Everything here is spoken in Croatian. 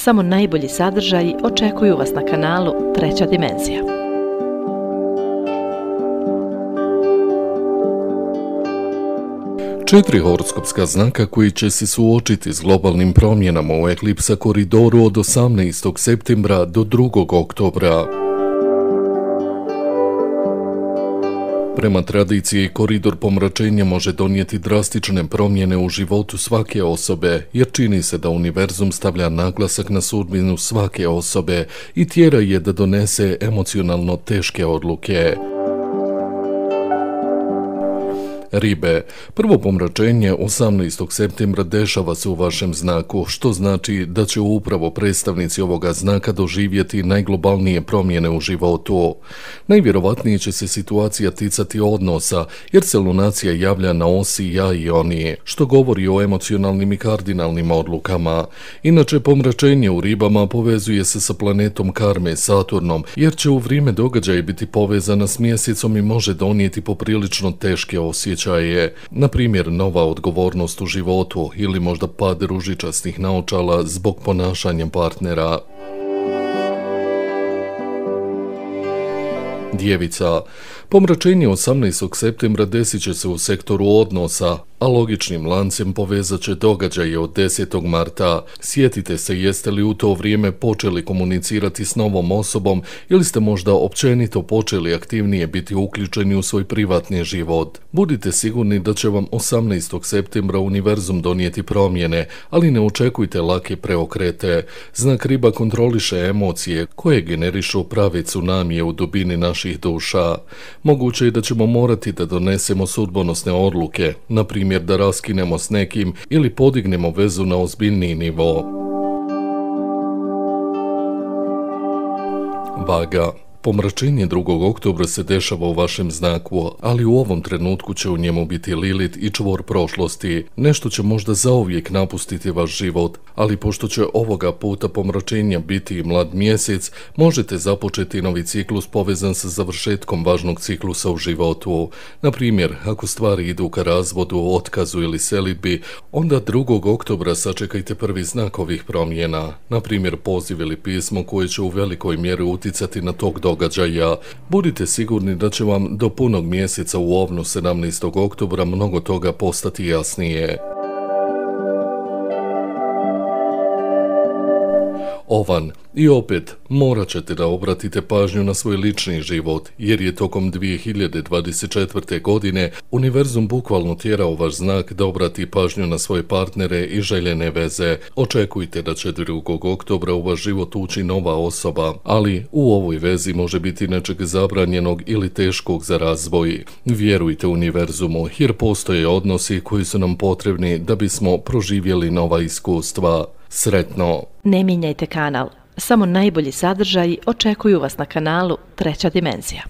Samo najbolji sadržaji očekuju vas na kanalu Treća dimenzija. Četiri horoskopska znaka koji će se suočiti s globalnim promjenama u eklipsa koridoru od 18. septembra do 2. oktobra. Prema tradiciji, koridor pomračenja može donijeti drastične promjene u životu svake osobe, jer čini se da univerzum stavlja naglasak na sudbinu svake osobe i tjera je da donese emocionalno teške odluke. Ribe, prvo pomračenje 18. septembra dešava se u vašem znaku, što znači da će upravo predstavnici ovoga znaka doživjeti najglobalnije promjene u životu. Najvjerovatnije će se situacija ticati odnosa, jer se lunacija javlja na osi ja i oni, što govori o emocionalnim i kardinalnim odlukama. Inače, pomračenje u ribama povezuje se sa planetom karme Saturnom, jer će u vrijeme događaja biti povezana s mjesecom i može donijeti poprilično teške osjećaje. Na primjer, nova odgovornost u životu ili možda pad ružičastih naočala zbog ponašanja partnera. Djevica, pomračenje 18. septembra desit će se u sektoru odnosa, a logičnim lancem povezat će događaje od 10. marta. Sjetite se jeste li u to vrijeme počeli komunicirati s novom osobom ili ste možda općenito počeli aktivnije biti uključeni u svoj privatni život. Budite sigurni da će vam 18. septembra univerzum donijeti promjene, ali ne očekujte lake preokrete. Znak riba kontroliše emocije koje generišu prave tsunamije u dubini naših duša. Moguće je da ćemo morati da donesemo sudbonosne odluke, na primjer da raskinemo s nekim ili podignemo vezu na ozbiljniji nivo. Vaga, pomračenje 2. oktobra se dešava u vašem znaku, ali u ovom trenutku će u njemu biti Lilit i čvor prošlosti. Nešto će možda zauvijek napustiti vaš život, ali pošto će ovoga puta pomračenja biti i mlad mjesec, možete započeti novi ciklus povezan sa završetkom važnog ciklusa u životu. Na primjer, ako stvari idu ka razvodu, otkazu ili selidbi, onda 2. oktobra sačekajte prvi znak ovih promjena. Na primjer, poziv ili pismo koje će u velikoj mjeri uticati na tog događaja. Budite sigurni da će vam do punog mjeseca u ovnu 17. oktobra mnogo toga postati jasnije. Ovan, i opet morat ćete da obratite pažnju na svoj lični život, jer je tokom 2024. godine univerzum bukvalno tjerao vaš znak da obrati pažnju na svoje partnere i željene veze. Očekujte da će 2. oktobra u vaš život ući nova osoba, ali u ovoj vezi može biti nečeg zabranjenog ili teškog za razvoj. Vjerujte univerzumu, jer postoje odnosi koji su nam potrebni da bismo proživjeli nova iskustva. Sretno! Ne mijenjajte kanal. Samo najbolji sadržaji očekuju vas na kanalu Treća dimenzija.